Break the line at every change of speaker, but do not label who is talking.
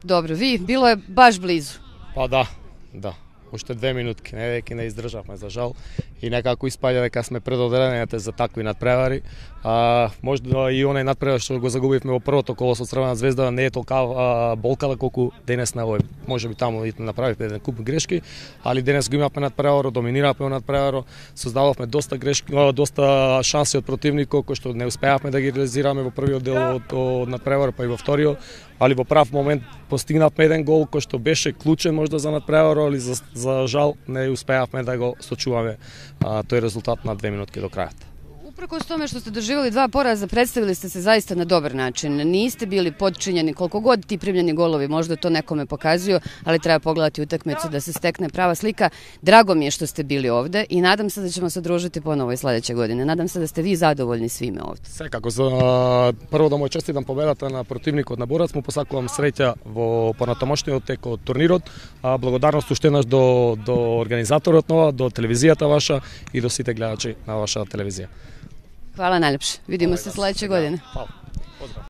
Добро, ви, било е баш близу.
Па да. Уште 2 минутки, веќе не издржавме за жал и некако испаѓа дека сме предодредените за такви надпревари. Можда и онај надпревар што го загубивме во првото коло со Црвена звезда не е толка болкала колку денес на овој. Можеби таму и направивме еден куп грешки, али денес го имавме надпреварот, доминиравме во надпреварот, создававме доста грешки, доста шанси од противникот кои што не успеавме да ги реализираме во првиот дел од надпреварот, па и во вториот, али во прав момент постигнавме еден гол кој што беше клучен можда за надпреварот, али за жал не успеавме да го сочуваме тој резултат на 2 минутки до крајот.
Uprkos tome što ste doživjeli 2 poraza, predstavili ste se zaista na dobar način. Niste bili podčinjeni, koliko god ti primljeni golovi možda to nekome pokazuju, ali treba pogledati utakmicu da se stekne prava slika. Drago mi je što ste bili ovde i nadam se da ćemo se družiti ponovo i sledeće godine. Nadam se da ste vi zadovoljni svime ovde.
Секако, прво да му честитам победата на противникот на Борац, му посакувам среќа во понатамошниот тек од турнирот. Благодарност уште еднаш до организаторот нова, до телевизијата ваша и до сите гледачи на вашата телевизија.
Hvala najljepše. Vidimo se sledeće godine.
Hvala. Pozdrav.